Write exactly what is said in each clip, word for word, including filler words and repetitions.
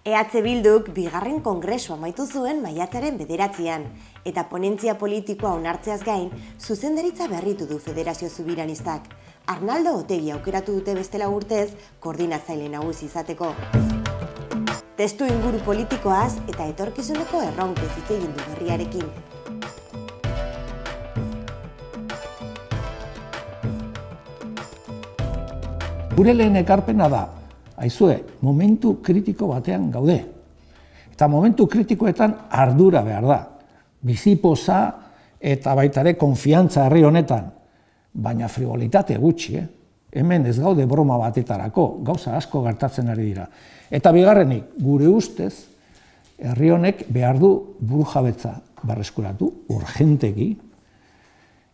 E H Bilduk bigarren kongresua amaitu zuen maiatzaren bederatzian, eta ponentzia politikoa onartzeaz gain, zuzendaritza berritu du Federazio Subiranistak. Arnaldo Otegi aukeratu dute bestela urtez, koordinatzaile nagusi izateko. Testu inguru politikoaz eta etorkizuneko erronkez hitz egin du berriarekin. Gure lehen ekarpena da, aizue, momentu kritiko batean gaude. Eta momentu kritikoetan ardura behar da. Bizipoza eta baita ere konfiantza herri honetan. Baina frivolitate gutxi, eh? Hemen ez gaude broma batetarako, gauza asko gertatzen ari dira. Eta bigarrenik, gure ustez, herri honek behar du burujabetza berreskuratu, urgentegi,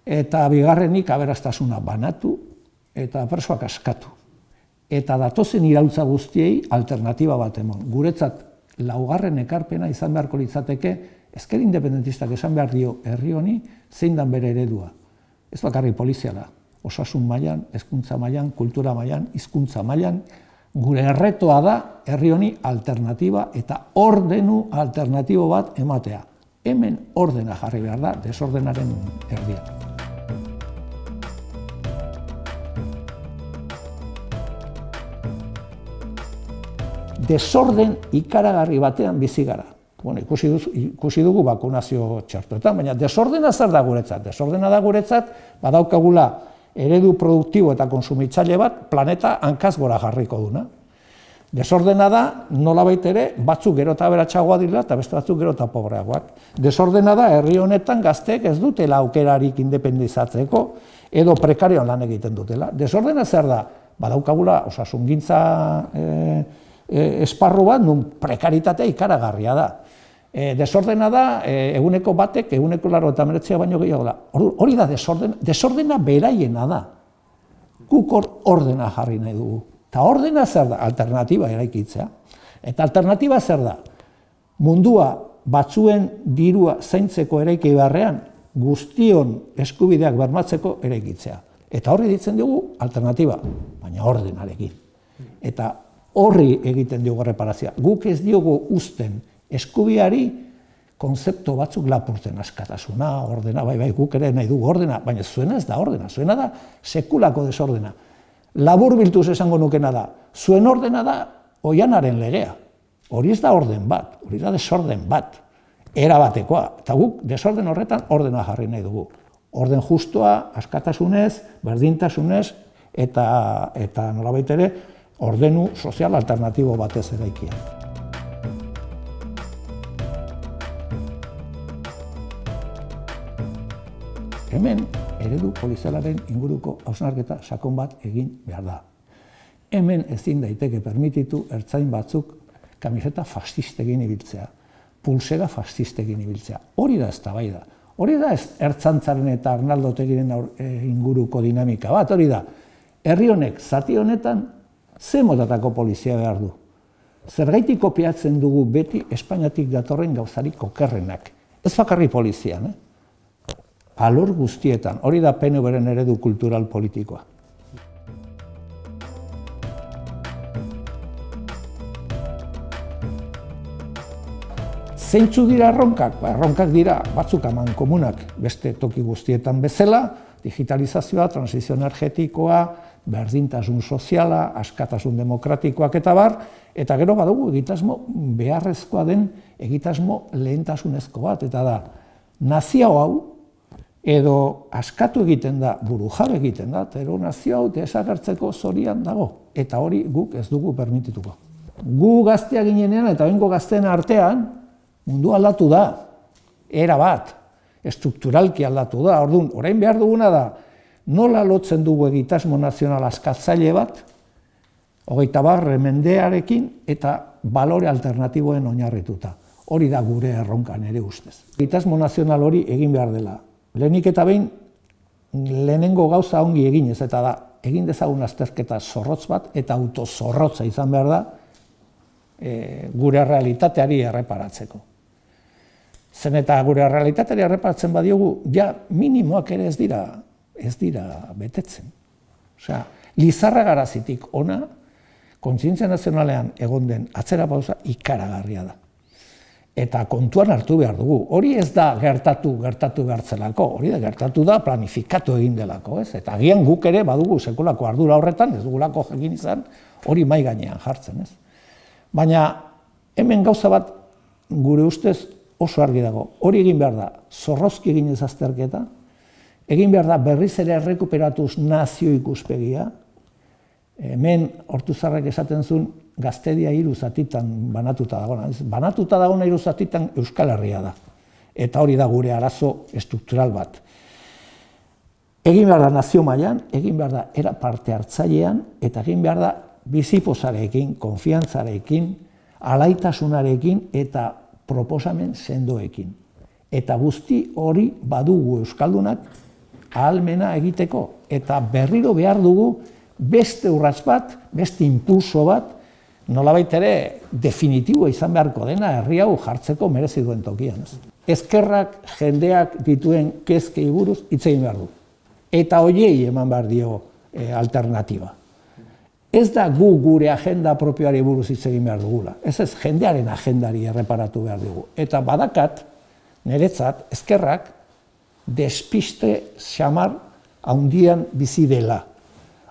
eta bigarrenik aberastasuna banatu eta presoak askatu. Eta datozen iraultza guztiei alternatiba bat emon. Guretzat laugarren ekarpena izan beharko litzateke, ezker independentistak esan behar dio herri honi zein dan bere eredua. Ez bakarri poliziala, osasun mailan, hezkuntza mailan, kultura mailan, hizkuntza mailan, gure erretoa da herri honi alternatiba eta ordenu alternatibo bat ematea. Hemen ordena jarri behar da, desordenaren erdian. Desorden ikaragarri batean bizi gara. Bueno, ikusi, duz, ikusi dugu bakunazio txartoetan, baina desordena zer da guretzat? Desordena da guretzat, badaukagula eredu produktibo eta konsumitzaile bat planeta hankaz gora jarriko duna. Desordena da, nolabait ere, batzuk gero eta aberatsagoa direla eta beste batzuk gero eta pobreagoak. Desordena da, herri honetan gazteek ez dutela aukerarik independizatzeko edo prekarioan lan egiten dutela. Desordena zer da? Badaukagula osasungintza eh, esparru bat, nun prekaritatea ikaragarria da. Desordena da, eguneko batek, eguneko laro eta meretzia baino gehiago da. Hori da desordena, desordena beraiena da. Guk ordena jarri nahi dugu. Eta ordena zer da? Alternatiba eraikitzea. Eta alternatiba zer da? Mundua batzuen dirua zaintzeko eraiki beharrean, guztion eskubideak bermatzeko eraikitzea. Eta horri ditzen dugu alternatiba, baina ordenarekin. Eta horri egiten diogu reparazioa. Guk ez diogu uzten eskubiari konzeptu batzuk lapurtzen, askatasuna, ordena, bai, bai, guk ere nahi dugu ordena, baina zuena ez da ordena, zuena da sekulako desordena. Labur biltuz esango nukena da, zuen ordena da oianaren legea. Hori ez da orden bat, hori da desorden bat, erabatekoa. Eta guk desorden horretan ordena jarri nahi dugu. Orden justoa, askatasunez, berdintasunez, eta, eta nolabait ere, ordenu sozial alternatibo batez eraikia. Hemen, eredu polizialaren inguruko hausnarketa sakon bat egin behar da. Hemen ezin daiteke permititu ertzain batzuk kamiseta fascistegin ibiltzea, pulsera fascistegin ibiltzea. Hori da eztabaida. Hori da ertzantzaren eta Arnaldo Otegiren inguruko dinamika bat. Hori da, herri honek zati honetan ze motatako polizia behar du. Zergaitik kopiatzen dugu beti Espainiatik datorren gauzarik okerrenak. Ez bakarri polizian, eh? Alor guztietan, hori da P N V-ren eredu kultural politikoa. Zeintzu dira erronkak? Ba, erronkak dira batzuk aman komunak beste toki guztietan bezala, digitalizazioa, transizio energetikoa, berdintasun soziala, askatasun demokratikoak eta bar, eta gero badugu egitasmo beharrezkoa den egitasmo lehentasunezko bat, eta da, nazio hau, edo askatu egiten da, burujabe egiten da, eta ero nazio hau desagertzeko zorian dago, eta hori guk ez dugu permitituko. Gu gaztea ginenean eta bengo gazteen artean, mundu aldatu da, era bat, estrukturalki aldatu da, orduan, orain behar duguna da, nola lotzen dugu egitasmo nazional askatzaile bat, hogeita barre mendearekin eta balore alternatiboen oinarrituta. Hori da gure erronkan ere ustez. Egitasmo nazional hori egin behar dela. Lehenik eta behin, lehenengo gauza ongi eginez, eta da, egin dezagun azterketa zorrotz bat, eta autozorrotza izan behar da, e, gure realitateari erreparatzeko. Zen eta gure realitateari erreparatzen badiogu, ja minimoak ere ez dira, ez dira betetzen. Osea, Lizarra Garazitik ona, kontzientzia nazionalean egon den atzera pausa ikaragarria da. Eta kontuan hartu behar dugu. Hori ez da gertatu, gertatu behartzelako, hori da gertatu da planifikatu egin delako, ez? Eta agian guk ere badugu sekulako ardura horretan, ez dugulako egin izan, hori mai gainean jartzen, ez? Baina hemen gauza bat gure ustez oso argi dago. Hori egin behar da, zorrozki egin ez azterketa, egin behar da berriz ere errekuperatuz nazio ikuspegia, hemen Ortuzarrek esaten zuen Gaztedia hiru zatitan banatuta dagoena. Banatuta dagoena hiru zatitan Euskal Herria da. Eta hori da gure arazo estruktural bat. Egin behar da nazio mailan, egin behar da era parte hartzailean, eta egin behar da bizipozarekin, konfiantzarekin, alaitasunarekin eta proposamen sendoekin. Eta guzti hori badugu euskaldunak ahalmena egiteko. Eta berriro behar dugu beste urrats bat, beste impulso bat, nolabait ere definitiboa izan beharko dena herri hau jartzeko merezi duen tokian. Ezkerrak jendeak dituen kezkei buruz hitz egin behar du. Eta horiei eman behar dio alternatiba. Ez da gu gure agenda propioari buruz hitz egin behar dugula. Ez ez jendearen agendari erreparatu behar dugu. Eta badakat, niretzat, ezkerrak despiste xamar handian bizi dela.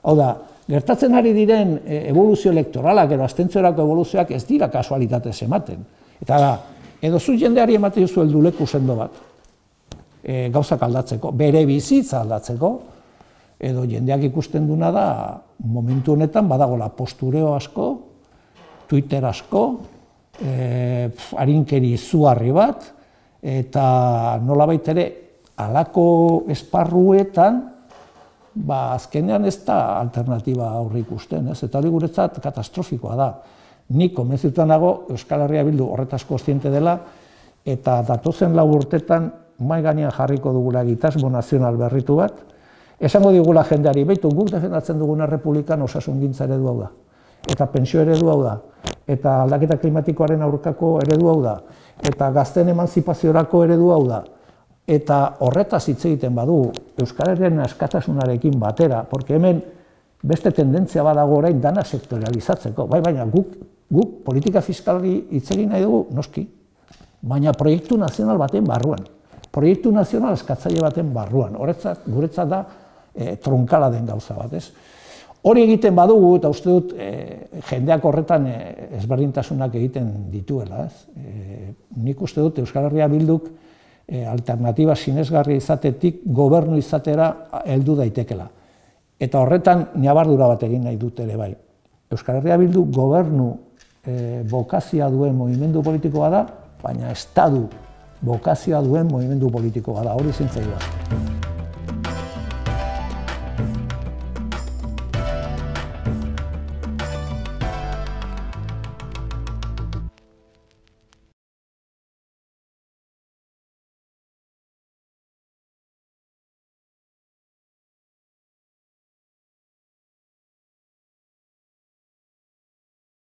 Hau da, gertatzen ari diren evoluzio elektoralak edo abstentziorako evoluzioak ez dira kasualitatez ematen. Eta da, edo zu jendeari ematen duzu helduleku sendo bat, e, gauzak aldatzeko, bere bizitza aldatzeko, edo jendeak ikusten duna da, momentu honetan badagola postureo asko, Twitter asko, e, harinkeri izugarri bat, eta nolabait ere halako esparruetan, ba, azkenean ez da alternatiba aurre ikusten, ez? Eta hori guretzat katastrofikoa da. Nik konbentzituta nago Euskal Herria Bildu horretaz kontziente dela, eta datozen lau urtetan mahai gainean jarriko dugula egitasmo nazional berritu bat, esango digula jendeari, beitu, guk defendatzen duguna republikan osasungintza eredu hau da, eta pentsio eredu hau da, eta aldaketa klimatikoaren aurkako eredu hau da, eta gazteen emantzipaziorako eredu hau da, eta horretaz hitz egiten badu Euskal Herriaren askatasunarekin batera, porque hemen beste tendentzia badago orain dana sektorializatzeko, bai, baina guk, guk politika fiskali hitz egin nahi dugu, noski, baina proiektu nazional baten barruan, proiektu nazional eskatzaile baten barruan, horretzat, guretzat da e, tronkala den gauza bat, ez? Hori egiten badugu, eta uste dut e, jendeak horretan e, ezberdintasunak egiten dituela, ez? E, nik uste dut Euskal Herria Bilduk alternatiba sinesgarria izatetik gobernu izatera heldu daitekela. Eta horretan ñabardura bat egin nahi dut ere bai. Euskal Herria Bildu gobernu bokazioa duen mugimendu politikoa da, baina estadu bokazioa duen mugimendu politikoa da, hori zintzaiua.